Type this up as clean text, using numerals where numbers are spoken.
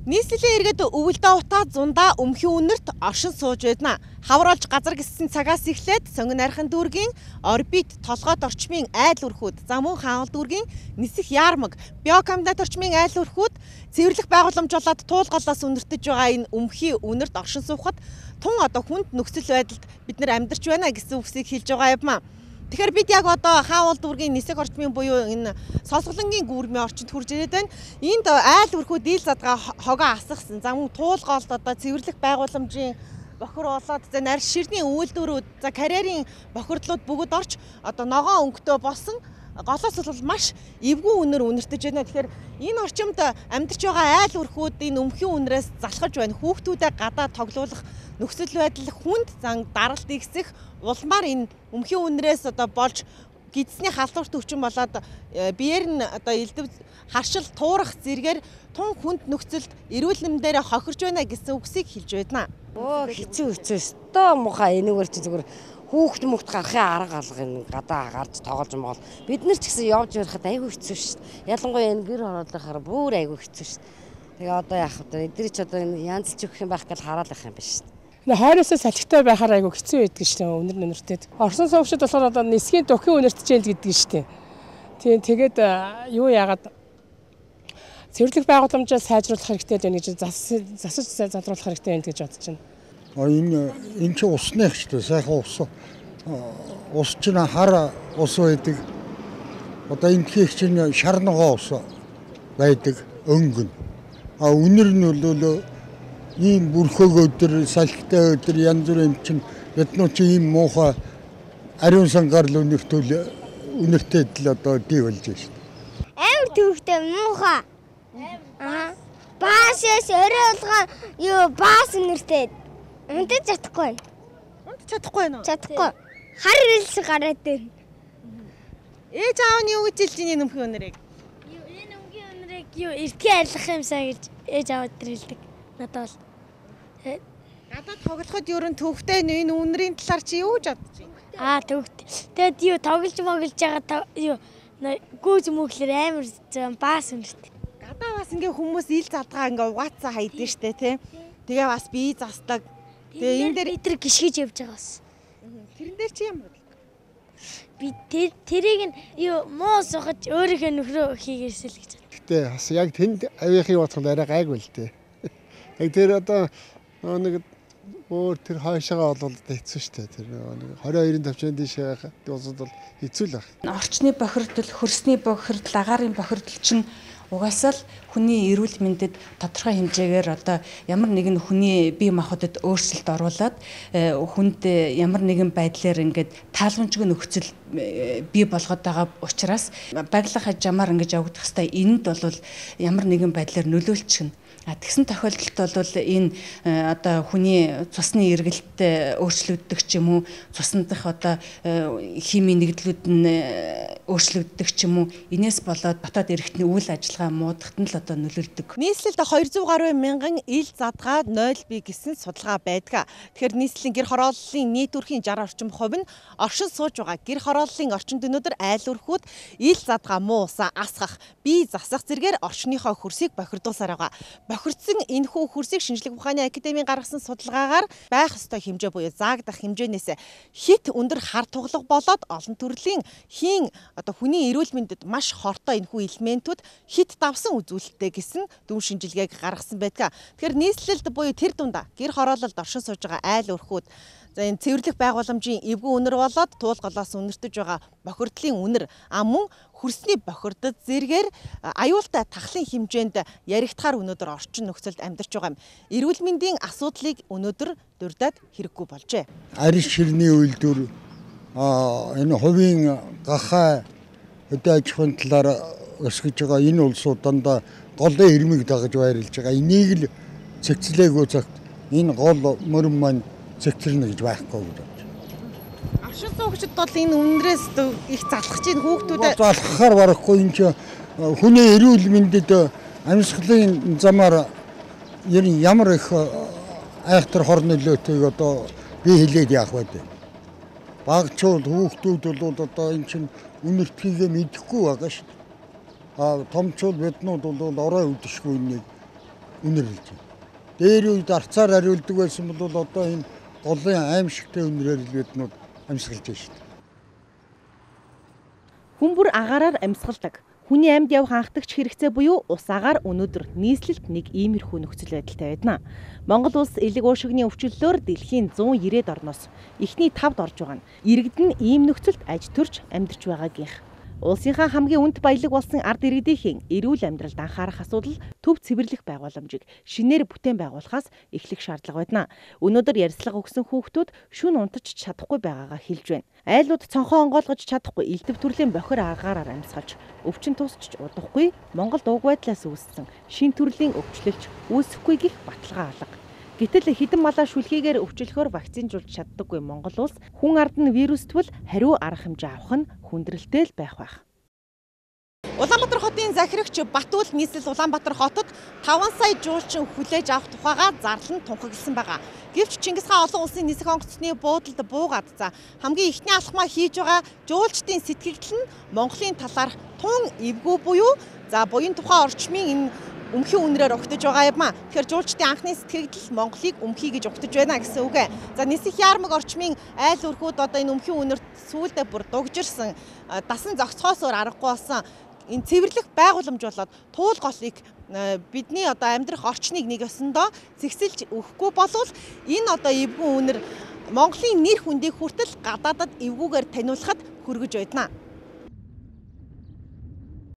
Нийслэлийн иргэд өвөлдөө утаа зундаа өмхийн үнэрт оршин сууж байна. Хавруулж газар гиссэн цагаас эхлээд сонгон архин дүүргийн орбит толгойд орчмын айл өрхүүд, зам мөн хаалт дүүргийн нисэх яармаг, биокомбинат орчмын айл өрхүүд цэвэрлэх байгууламж болоод туулгалаас үнэртэж байгаа энэ өмхийн үнэрт оршин суухад тун одоо хүнд нөхцөл байдалд бид нар амьдарч байна гэсэн үгсийг хэлж байгаа юм аа. Тэгэхээр бид яг одоо хаавал дүүргийн нисэх орчмын буюу энэ сонсголонгийн гүүрмийн орчинд хурж ирээд байна. Энд айл өрхүүд ил задгаа хогоо асгасан. За мөн туулгаалт одоо цэвэрлэх байгууламжийн бохир болоод за нарийн ширний үйлдвэрүүд за карьерийн бохирдлууд бүгд орж одоо ногоон өнгөтэй болсон голоос бол маш эвгүй үнээр үнэртэж байна. Тэгэхээр энэ орчимд амьдарч байгаа айл өрхүүд энэ өмхийн үнрээс залхаж байна. Хүүхдүүдэд гадаа тоглуулах нөхцөл байдал хүнд зан даралт игсэх улмаар энэ өмхийн үнрээс одоо болж гидсний халдварт өвчин болоод биеэр нь одоо элдв харшил туурах зэргээр тун хүнд нөхцөлд эрүүл мэндээр хохирж байна гэсэн үгсийг хэлж байна. Хэцүү өстөө муухай энэгээр чи зүгээр хүүхд мөхт гарахын арга алга энэ гадаа гарч тоглож мол бид нар ч гэсэн явж ярихад айгүй хэцүү шүү дээ. Ялангуяа энэ гэр хороолохоор бүр айгүй хэцүү шүү дээ. Тэгээ одоо яах вэ? Эдгээр ч одоо янзлж өгөх юм байх гэж хараалах юм биш шүү дээ. Хойроосоо салхитай байхаар айгүй хэцүү байдаг шүү дээ. Үнэр нүртэд. Орсон суугчид болохоор одоо нисхийн дөхийн үнэртэж ял гэдэг шүү дээ. Тийм тэгээд юу яагаад цэвэрлэх байгууламжаа сайжруулах хэрэгтэй байна гэж засаж залруулах хэрэгтэй байна гэж бодож байна. Энэ ч усных ч дээ сайхан ус чинь хар ус байдаг. Одоо энэ их чинь шарногоо ус байдаг өнгөн. Үнэр нь бол ийм бүрхөг өдөр салхитай өдөр янз бүрийн чинь яднуу чи ийм муухай ариун сангаар л үнэртэй л одоо ди болж байна шүү дээ. Амар төвхтэй муухай. Баасээс өрөөлгөө юу баас үнэртэй. Унтаж чадахгүй. Унтаж чадахгүй нөө. Чадахгүй. Хар рэлс гараад байна. Ээж аав нь юу гэж хэлж ийм өмхийн үнэрийг? Энэ өмхийн үнэрийг юу эртний арилгах юмсаа гэж ээж аваад хэлдэг. Надад бол гадаад тоглоход юу н төвхтэй энэ үнэрийн талаар чи юу гэж бодож байна? Төвхтэй. Тэгэд юу тоглож байгаа юу гүүж мөглөр амар баас үнэртэй. Гадаа бас ингээ хүмүүс ил задгаа ингээ угаацаа хайдаг штэ тий. Тэгээ бас бие застдаг. Тэгээ энэ дээр эдэр гიშгэж явж байгаа бас. Тэрэн дээр чи ямар бодлоо? Би тэрийг нь юу муу сухаж өөрийнхөө нөхрөө хийгээсэл гэж байна. Гэтэ бас яг тэнд авийнхыг бодоход арай гайгүй л дээ. Яг тэр одоо нэг өөр тэр хойшоогоо бол хэцүү шүү дээ. Тэр нэг 22-ын тавчны дээш байхад бол хэцүү л байна. Орчны бохирдол, хөрсний бохирдол, агаарын бохирдол чинь угаасаа л хүний эрүүл мэндэд тодорхой хэмжээгээр одоо ямар нэгэн хүний бие махбодод өөрчлөлт оруулаад хүнд ямар нэгэн байдлаар ингээд тааламжгүй нөхцөл бий болгоод байгаа учраас баглах хажамаар ингэж явагдах хэвээр энэнд бол ямар нэгэн байдлаар нөлөөлчихнэ. Тэгсэн тохиолдолд бол энэ одоо хүний цусны эргэлттэй өөрчлөгддөг ч юм уу, цусндах одоо химийн нэгдлүүд нь өөрчлөгддөг ч юм уу, инээс болоод дотоод эрхтний үйл ажиллагаа муудахад нь л одоо нөлөөлдөг. Нийслэлд 200 гаруй мянган ил задгаа 0 бий гэсэн судалгаа байдаг. Тэгэхээр нийслэлийн гэр хорооллын нийт өрхийн 60 орчим хувь нь оршин сууж байгаа. Гэр хорооллын орчинд өнөөдөр айл өрхүүд ил задгаа муу усаа асгах, бие засах зэргээр орчныхоо хөрсийг бохирдуулсаар байгаа. Бохирдсан энэхүү хөрсийг шинжлэх ухааны академийн гаргасан судалгаагаар байх ёстой хэмжээ буюу заагдах хэмжээнээс хит өндөр хар туглаг болоод олон төрлийн хийн одоо хүний эрүүл мэндэд маш хортой энэхүү элементүүд хит давсан үзүүлэлттэй гэсэн дүн шинжилгээг гаргасан байдаг. Тэгэхээр нийслэлд буюу тэр дундаа гэр хороололд оршин сууж байгаа айл өрхүүд за энэ цэвэрлэх байгууламжийн эвгүй үнэр болоод туулгалаас үнэртэж байгаа бохирдлын үнэр мөн хөрсний бохирдод зэргээр аюултай тахлын хэмжээнд яригдахаар өнөөдөр орчин нөхцөлд амьдарч байгаа юм. Эрүүл мэндийн асуудлыг өнөөдөр дурдаад хэрэггүй болжээ. Арийн ширний үйлдвэр энэ хувийн гахаа хөдөө аж ахуйн талаар өсгөж байгаа энэ улсууд дандаа голын ирмэг дагаж байрлаж байгаа. Энийг л цэгцлээгүй цагт энэ гол мөрөн маань цэгцэрнэ гэж байхгүй гэж байна. Оршин суугчид бол энэ үнрээс их залхаж ийн хүүхдүүдэд залхахаар барахгүй энэ ч хүний эрүүл мэндэд амьсгалын замаар ямар их айхтар хор нөлөөтэйг одоо би хэлээд яах вэ? Багчууд хүүхдүүд бол одоо энэ чинь үнэртхийгээ мэдэхгүй байгаа шүү дээ. Томчууд биднууд бол орой үдэшгүй нэг үнэрлэж байна. Дээр үед арцаар ариулдаг байсан бол одоо энэ голын аимшигтай үнрээр л биднүүд амьсгалж байна шүү дээ. Хүн бүр агаараар амьсгалдаг. Хүний амьд явах анхдагч хэрэгцээ буюу ус агаар өнөөдөр нийслэлд нэг иймэрхүү нөхцөл байдалтай байна. Монгол улс элэг уушигны өвчлөлөөр дэлхийн 190-д орноос эхний 5-д орж байгаа нь иргэд нь ийм нөхцөлд аж төрж амьдарч байгаагийнх. Улсынхаа хамгийн үнд баялаг болсон ард иргэдийн эрүүл амьдралд анхаарах асуудал төв цэвэрлэх байгууламжийг шинээр бүтээн байгуулахаас эхлэх шаардлага байна. Өнөөдөр ярьцлага өгсөн хүүхдүүд шүн унтаж чадахгүй байгаагаа хэлж байна. Айлууд цонхоо онгойлгож чадахгүй элдв төрлийн бохир агаараар амьсгалж, өвчин тусч удахгүй Монгол дууг байдлаас үүссэн шин төрлийн өвчлөлч үүсэхгүй гэх баталгаа алга. Гэтэл хэдэн малаа шүлхийгээр өвчлөхөөр вакцинжуулж чаддаггүй Монгол улс хүн ард нь вируствал хариу арга хэмжээ авах нь хүндрэлтэй л байх байх. Улаанбаатар хотын захирагч Батүл нийслэл Улаанбаатар хотод 5 сая жуулчин хүлээж авах тухайга зарлан тунхагласан байгаа. Гэвч Чингис хаан олон улсын нисэх онгоцны буудалд буугаад хамгийн ихний алхмаа хийж байгаа жуулчдын сэтгэгдэл нь Монголын талаар тун эвгүй буюу буян тухайн орчмын энэ өмхийн үнрээр огтж байгаа юм а. Тэгэхээр жуулчдын анхны сэтгэгдэл Монголыг өмхий гэж огтж байна гэсэн үг. Нисэх яармаг орчмын айл өрхүүд одоо энэ өмхийн үнэрт сүүлдээ бүр дугжирсан дасан зохицохоос өөр аргагүй болсон энэ цэвэрлэх байгууламж болоод туул голыг бидний одоо амьдрах орчныг нэг ёсондоо зэгсэлж өгөхгүй болвол энэ одоо эвгүй үнэр Монголын нэр хүндийг хүртэл гадаадад эвгүйгээр таниулахад хүргэж байна.